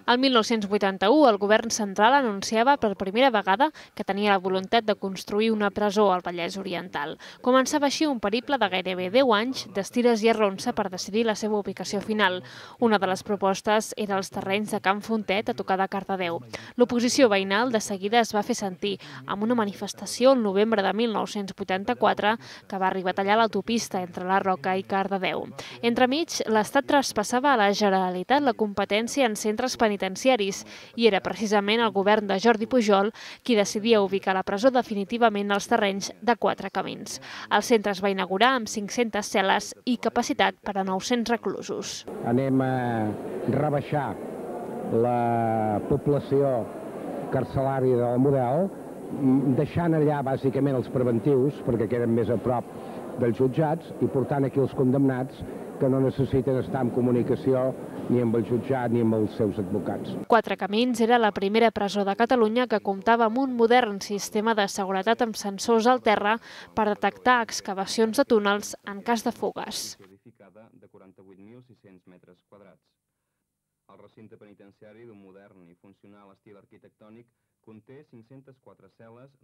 El 1981, el govern central anunciava per primera vegada que tenia la voluntat de construir una presó al Vallès Oriental. Començava així un periple de gairebé 10 anys d'estires i arronsa per decidir la seva ubicació final. Una de les propostes era els terrenys de Can Fontet a tocar de Cardedeu. L'oposició veïnal de seguida es va fer sentir amb una manifestació el novembre de 1984 que va arribar a tallar l'autopista entre la Roca i Cardedeu. Entremig, l'Estat traspassava a la Generalitat la competència en centres penitenciaris i era precisament el govern de Jordi Pujol qui decidia ubicar la presó definitivament als terrenys de Quatre Camins. El centre es va inaugurar amb 500 cel·les i capacitat per a 900 reclusos. Anem a rebaixar la població carcelària del model, deixant allà bàsicament els preventius, perquè queden més a prop dels jutjats, i portant aquí els condemnats que no necessiten estar en comunicació ni amb el jutjat ni amb els seus advocats. Quatre Camins era la primera presó de Catalunya que comptava amb un modern sistema de seguretat amb sensors al terra per detectar excavacions de túnels en cas de fugues. De 48.600 metres quadrats. El recinte penitenciari d'un modern i funcional estil arquitectònic conté 504 cel·les